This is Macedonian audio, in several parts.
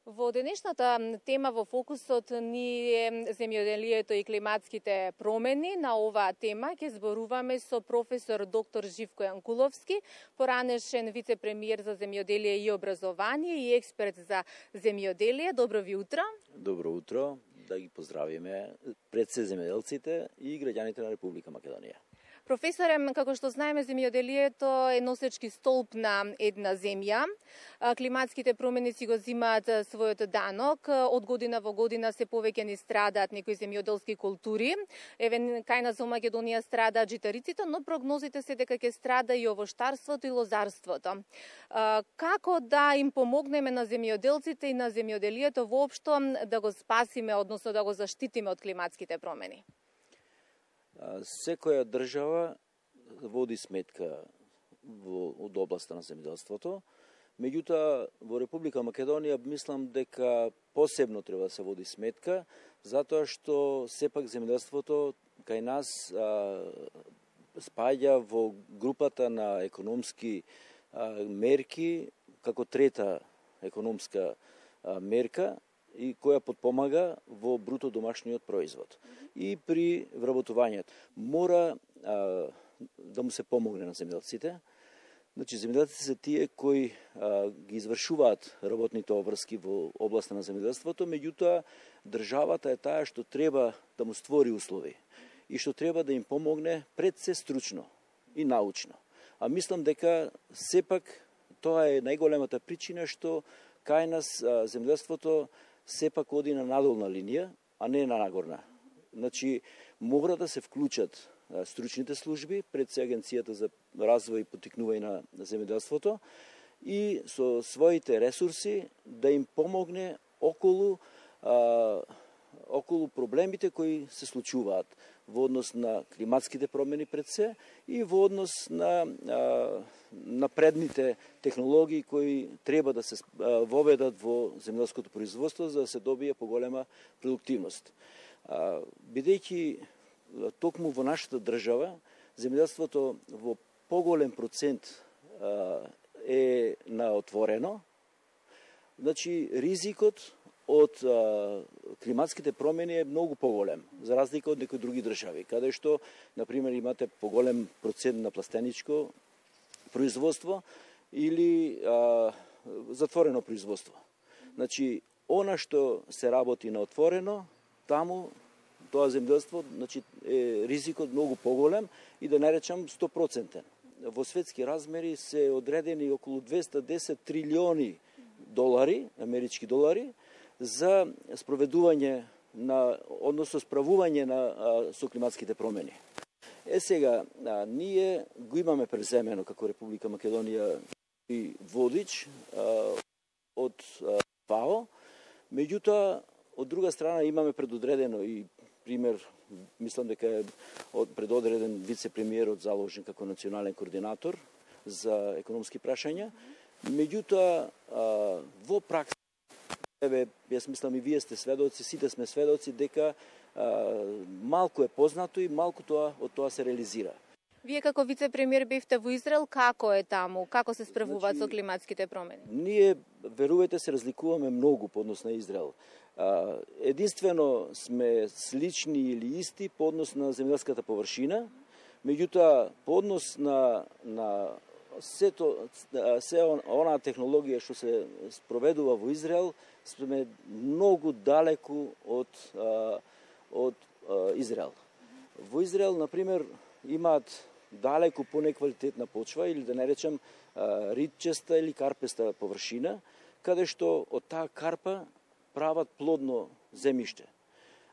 Во денешната тема во фокусот ни е земјоделието и климатските промени. На оваа тема ќе зборуваме со професор доктор Живко Јанкуловски, поранешен вице-премиер за земјоделие и образование и експерт за земјоделие. Добро ви утро. Добро утро, да ги поздравиме пред се земјоделците и граѓаните на Република Македонија. Професоре, како што знаеме, земјоделието е носечки столб на една земја. Климатските промени си го зимаат својот данок. Од година во година се повеќе ни страдаат некои земјоделски култури. Еве, кај нас во Македонија страдаат житариците, но прогнозите се дека ќе страда и овоштарството и лозарството. Како да им помогнеме на земјоделците и на земјоделието воопшто да го спасиме, односно да го заштитиме од климатските промени? Секоја држава води сметка од областа на земјоделството, меѓутоа во Република Македонија мислам дека посебно треба да се води сметка, затоа што сепак земјоделството кај нас спаѓа во групата на економски мерки како трета економска мерка и која подпомага во бруто домашниот производ. И при вработувањето мора да му се помогне на земјоделците. Значи, земјоделците се тие кои ги извршуваат работните обврски во областа на земјоделството, меѓутоа државата е таа што треба да му створи услови и што треба да им помогне пред се стручно и научно. А мислам дека сепак тоа е најголемата причина што кај нас земјоделството сепак оди на надолна линија, а не на нагорна. Значи, мора да се вклучат стручните служби, пред се Агенцијата за развој и поттикнување на земјоделството и со своите ресурси да им помогне околу проблемите кои се случуваат во однос на климатските промени пред се и во однос на напредните технологии кои треба да се воведат во земјоделското производство за да се добие поголема продуктивност. Бидејќи токму во нашата држава земјоделството во поголем процент е на отворено, значи ризикот од климатските промени е многу поголем, за разлика од некои други држави, каде што, например, имате поголем процент на пластеничко производство или затворено производство. Значи, она што се работи на отворено, таму тоа земјоделство, значи, е ризикот многу поголем и да не речам 100%. Во светски размери се одредени околу 210 трилиони долари, амерички долари, за спроведување односно справување со климатските промени. Сега, ние го имаме преземено како Република Македонија и водич од ФАО, меѓутоа, од друга страна имаме предодредено и пример, мислам дека е предодреден вице-премиерот заложен како национален координатор за економски прашања, меѓутоа во пракса, јас мислам и вие сте сведоци, сите сме сведоци дека малку е познато и малку од тоа се реализира. Вие како вице-премиер бевте во Израел, како е таму? Како се справуваат со климатските промени? Ние, верувајте, се разликуваме многу по однос на Израел. Единствено сме слични или исти по однос на земјоделската површина, меѓутоа по однос на се онаа технологија што се спроведува во Израел, сме многу далеку од Израел. Во Израел, например, имаат далеку понеквалитетна почва или да не речем ридчеста или карпеста површина, каде што од таа карпа прават плодно земјиште.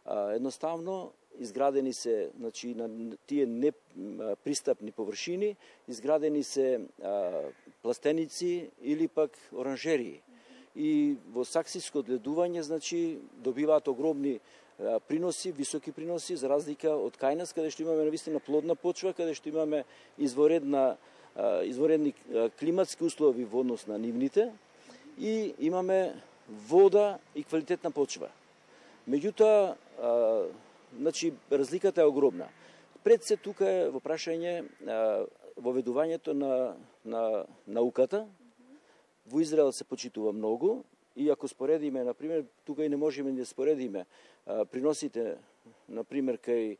Едноставно изградени се, значи, на тие непристапни површини, изградени се пластеници или пак оранжерии. И во саксиско одгледување, значи, добиваат огромни приноси, високи приноси, за разлика од кај нас, каде што имаме навистина плодна почва, каде што имаме изворедни климатски услови во однос на нивните и имаме вода и квалитетна почва. Меѓутоа, значи, разликата е огромна. Пред се тука е во прашање воведувањето на науката. Во Израел се почитува многу И ако споредиме, например, тука и не можеме да споредиме приносите, например, кај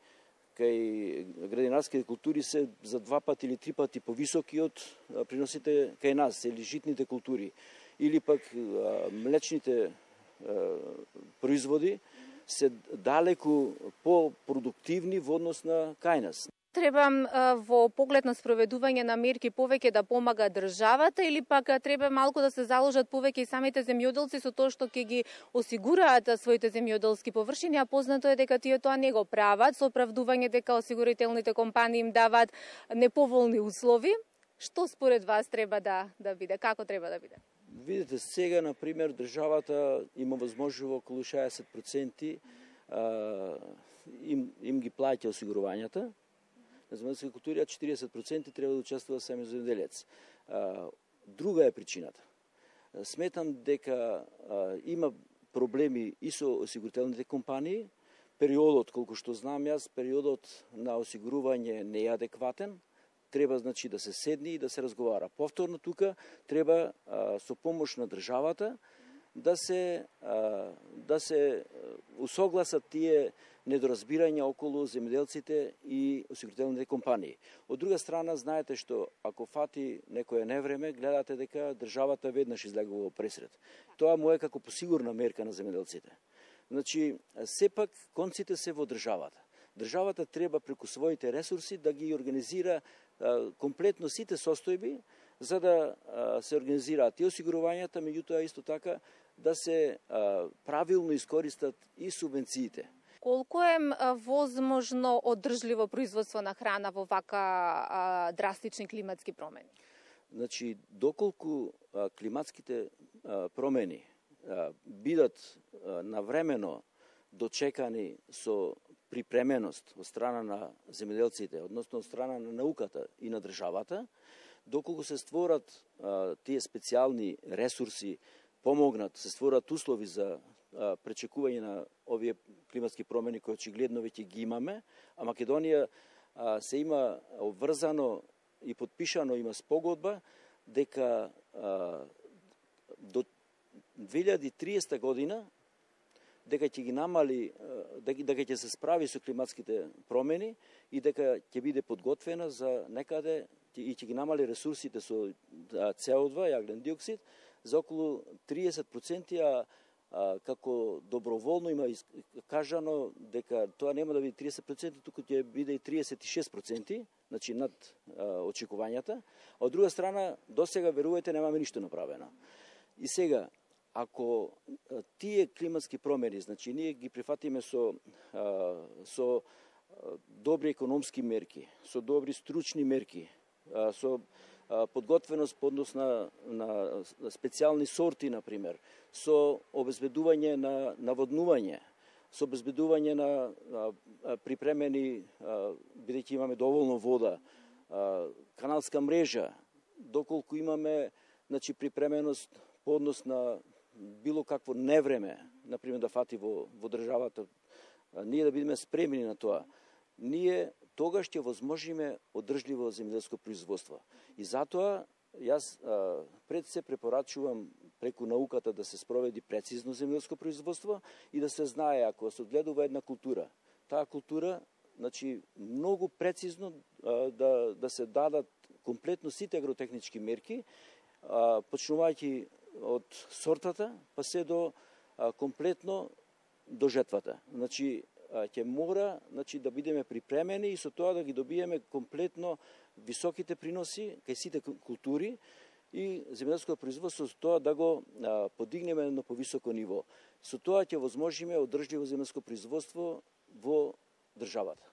градинарските култури се за 2 пати или 3 пати повисоки од приносите кај нас, или житните култури, или пак млечните производи се далеку по-продуктивни во однос на кај нас. Треба во поглед на спроведување на мерки повеќе да помага државата или пак треба малку да се заложат повеќе и самите земјоделци со тоа што ќе ги осигураат своите земјоделски површини, а познато е дека тие тоа не го прават со оправдување дека осигурителните компании им даваат неповолни услови. Што според вас треба да биде? Како треба да биде? Видите, сега, например, државата има возможно околу 60% им ги плаќа осигурувањата. На земјоделски култури, а 40% треба да учествува самиот земјоделец. Друга е причината. Сметам дека има проблеми и со осигурителните компании. Периодот, колку што знам јас, периодот на осигурување не е адекватен. Треба, значи, да се седне и да се разговара. Повторно тука треба со помош на државата да се усогласат тие недоразбирања околу земјоделците и осигурителните компании. Од друга страна, знаете што ако фати некое невреме, гледате дека државата веднаш излегува во пресред. Тоа му е како посигурна мерка на земјоделците. Значи, сепак конците се во државата. Државата треба преку своите ресурси да ги организира комплетно сите состојби, за да се организираат и осигурувањата, меѓутоа исто така да се правилно искористат и субвенциите. Колку е возможно одржливо производство на храна во вака драстични климатски промени? Значи, доколку климатските промени бидат навремено дочекани со припременост од страна на земјоделците, односно од страна на науката и на државата, доколку се створат тие специјални ресурси, помогнат, се створат услови за пречекување на овие климатски промени кои очигледно веќе ги имаме, а Македонија се има обврзано и подпишано, има спогодба дека до 2030 година дека ќе ги намали, дека ќе се справи со климатските промени и дека ќе биде подготвена за некаде и ќе ги намали ресурсите со CO2, јаглен диоксид, за околу 30%, како доброволно има кажано дека тоа нема да биде 30%, туку ќе биде и 36%, значи над очекувањата. А од друга страна, досега, верувајте, немаме ништо направено. И сега, ако тие климатски промени, значи ние ги прифатиме со добри економски мерки, со добри стручни мерки, со подготвеност по однос на специјални сорти, например, со обезбедување на наводнување, со обезбедување на припремени, бидејќи имаме доволно вода, каналска мрежа, доколку имаме, значи, припременост по однос на било какво невреме, например, да фати во државата, ние да бидеме спремни на тоа, ние тогаш ќе возможиме одржливо земјоделско производство. И затоа јас пред се препорачувам преку науката да се спроведи прецизно земјоделско производство и да се знае, ако се одгледува една култура, таа култура, значи, многу прецизно да се дадат комплетно сите агротехнички мерки, почнувајќи од сортата, па се до комплетно до жетвата. Значи, ќе мора, значи, да бидеме припремени и со тоа да ги добиеме комплетно високите приноси кај сите култури и земјоделското производство, со тоа да го подигнеме на повисоко ниво. Со тоа ќе возможиме одржливо земјоделско производство во државата.